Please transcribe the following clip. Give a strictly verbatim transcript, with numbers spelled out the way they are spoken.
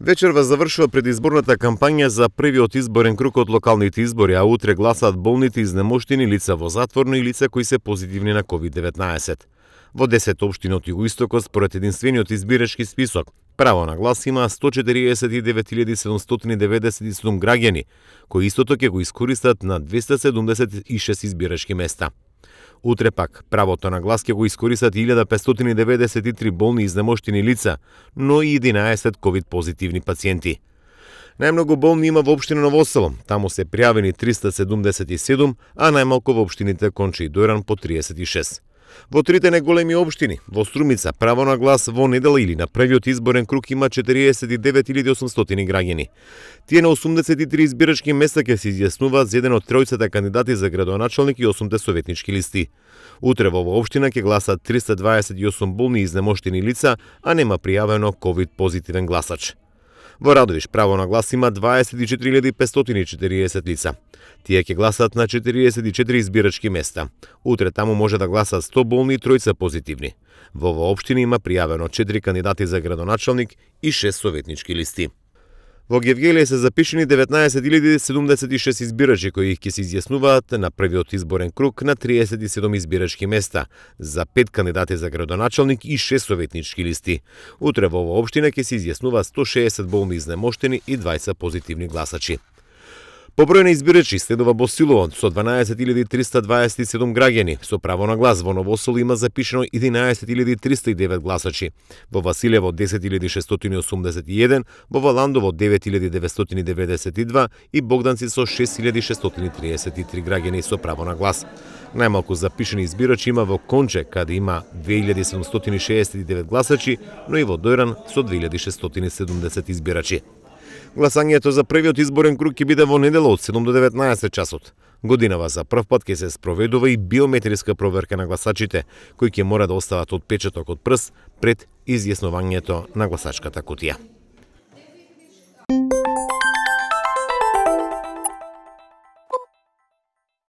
Вечерва завршува предизборната кампања за првиот изборен круг од локалните избори, а утре гласаат болните изнемоштени лица во затворно и лица кои се позитивни на ковид деветнаесет. Во десет општини од југоистокот според единствениот избирачки список, право на глас има сто четириесет и девет илјади седумстотини деветдесет и седум граѓани, кои истото ќе го искористат на двеста седумдесет и шест избирачки места. Утре пак, правото на глас ќе го искористат илјада петстотини деветдесет и три болни изнемоштени лица, но и единаесет ковид позитивни пациенти. Најмногу болни има во општина Ново Село, таму се пријавени триста седумдесет и седум, а најмалку во општините Конча и Дојран по триесет и шест. Во трите најголеми општини, во Струмица, право на глас во недела или на првиот изборен круг има четириесет и девет илјади осумстотини граѓани. Тие на осумдесет и три избирачки места ќе се изјаснуваат за еден од тројцата кандидати за градоначалник и осумте советнички листи. Утре во оваа општина ќе гласат триста дваесет и осум болни изнемоштени лица, а нема пријавено ковид позитивен гласач. Во Радовиш право на глас има дваесет и четири илјади петстотини и четириесет лица. Тие ќе гласат на четириесет и четири избирачки места. Утре таму може да гласат сто болни и тројца позитивни. Во оваа општина има пријавено четири кандидати за градоначалник и шест советнички листи. Во Гевгелие се запишени деветнаесет илјади седумдесет и шест избирачи кои ќе се изјаснуваат на првиот изборен круг на триесет и седум избирачки места за пет кандидати за градоначалник и шест советнички листи. Утре во оваа општина ќе се изјаснуваат сто шеесет болни изнемоштени и дваесет позитивни гласачи. По број на избирачи следува Босилово со дванаесет илјади триста дваесет и седум граѓани, со право на глас во Ново Село има запишено единаесет илјади триста и девет гласачи, во Василево десет илјади шестстотини осумдесет и еден, во Валандово девет илјади деветстотини деветдесет и два и Богданци со шест илјади шестстотини триесет и три граѓани со право на глас. Најмалку запишени избирачи има во Конче, каде има две илјади седумстотини шеесет и девет гласачи, но и во Дојран со две илјади шестстотини седумдесет избирачи. Гласањето за првиот изборен круг ќе биде во недела од седум до деветнаесет часот. Годинава за прв пат ќе се спроведува и биометриска проверка на гласачите, кои ќе мора да остават отпечаток од прст пред изјаснувањето на гласачката кутија.